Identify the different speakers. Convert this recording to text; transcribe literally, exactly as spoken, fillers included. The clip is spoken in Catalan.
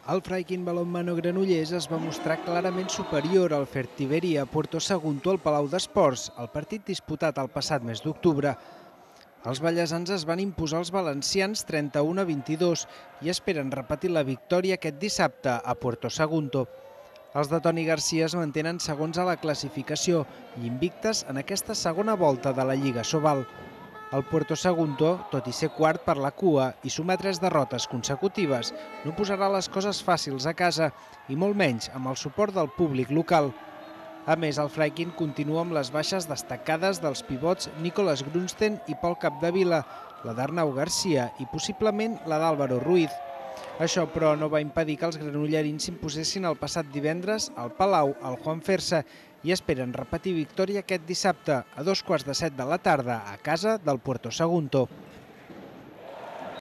Speaker 1: El Freikin Balonmano Granollers es va mostrar clarament superior al Fertiberia Puerto Sagunto al Palau d'Esports, el partit disputat el passat mes d'octubre. Els ballesans es van imposar als valencians trenta-u a vint-i-dos i esperen repetir la victòria aquest dissabte a Puerto Sagunto. Els de Toni Garcia es mantenen segons a la classificació i invictes en aquesta segona volta de la Lliga Sobal. El Puerto Sagunto, tot i ser quart per la cua i sumar tres derrotes consecutives, no posarà les coses fàcils a casa i molt menys amb el suport del públic local. A més, el Freikin continua amb les baixes destacades dels pivots Nicolas Grunsten i Pol Capdevila, la d'Arnau Garcia i possiblement la d'Álvaro Ruiz. Això, però, no va impedir que els granollerins s'imposessin el passat divendres al Palau al Juan Fersa i esperen repetir victòria aquest dissabte a dos quarts de set de la tarda a casa del Puerto Sagunto.